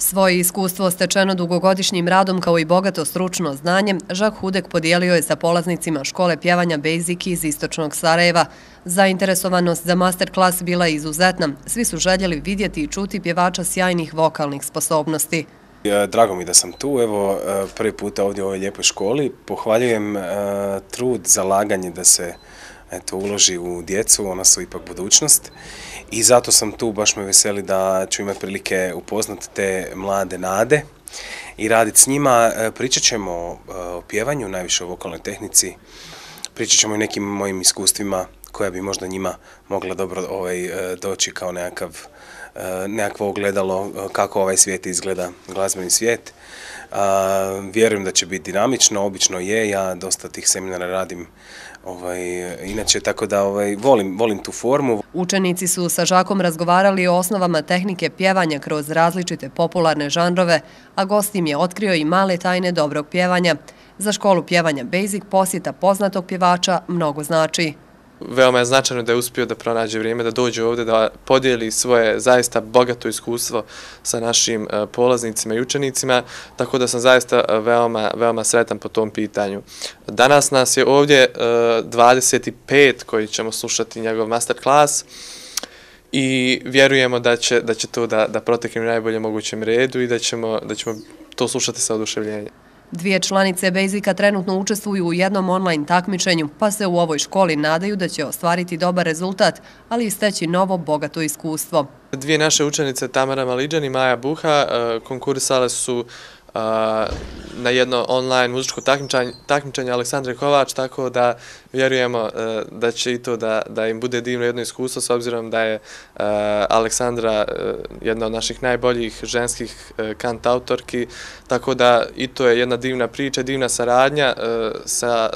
Svoje iskustvo stečeno dugogodišnjim radom kao i bogato stručno znanje, Žak Hudek podijelio je sa polaznicima škole pjevanja Basic iz istočnog Sarajeva. Zainteresovanost za master klas bila je izuzetna. Svi su željeli vidjeti i čuti pjevača sjajnih vokalnih sposobnosti. Drago mi da sam tu, evo prvi puta ovdje u ovoj lijepoj školi. Pohvaljujem trud, zalaganje da se uloži u djecu, ona su ipak budućnost. I zato sam tu, baš me veseli da ću imati prilike upoznati te mlade nade i raditi s njima. Pričat ćemo o pjevanju, najviše o vokalnoj tehnici, pričat ćemo i nekim mojim iskustvima koja bi možda njima mogla dobro doći kao nekakvo ogledalo kako ovaj svijet izgleda, glazbeni svijet. Vjerujem da će biti dinamično, obično je, ja dosta tih seminara radim inače, tako da volim tu formu. Učenici su sa Žakom razgovarali o osnovama tehnike pjevanja kroz različite popularne žanrove, a gost im je otkrio i male tajne dobrog pjevanja. Za školu pjevanja Basic posjeta poznatog pjevača mnogo znači. Veoma je značajno da je uspio da pronađe vrijeme, da dođe ovdje, da podijeli svoje zaista bogato iskustvo sa našim polaznicima i učenicima, tako da sam zaista veoma sretan po tom pitanju. Danas nas je ovdje 25 koji ćemo slušati njegov master klas i vjerujemo da će to da protekne u najboljem mogućem redu i da ćemo to slušati sa oduševljenjem. Dvije članice Basica trenutno učestvuju u jednom online takmičenju, pa se u ovoj školi nadaju da će ostvariti dobar rezultat, ali i steći novo bogato iskustvo. Dvije naše učenice, Tamara Maliđan i Maja Buha, konkurisale su na jedno online muzičko takmičenje Aleksandre Kovač, tako da vjerujemo da će i to da im bude divno jedno iskustvo, s obzirom da je Aleksandra jedna od naših najboljih ženskih kantautorki, tako da i to je jedna divna priča, divna saradnja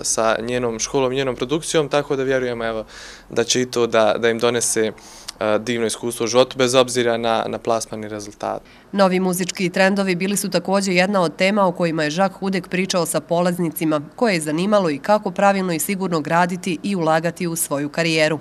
sa njenom školom, njenom produkcijom, tako da vjerujemo da će i to da im donese divno iskustvo u životu, bez obzira na plasmani rezultat. Novi muzički trendovi bili su također jedna od tema o kojima je Žak Hudek pričao sa polaznicima, koje je zanimalo i kako pravilno i sigurno graditi i ulagati u svoju karijeru.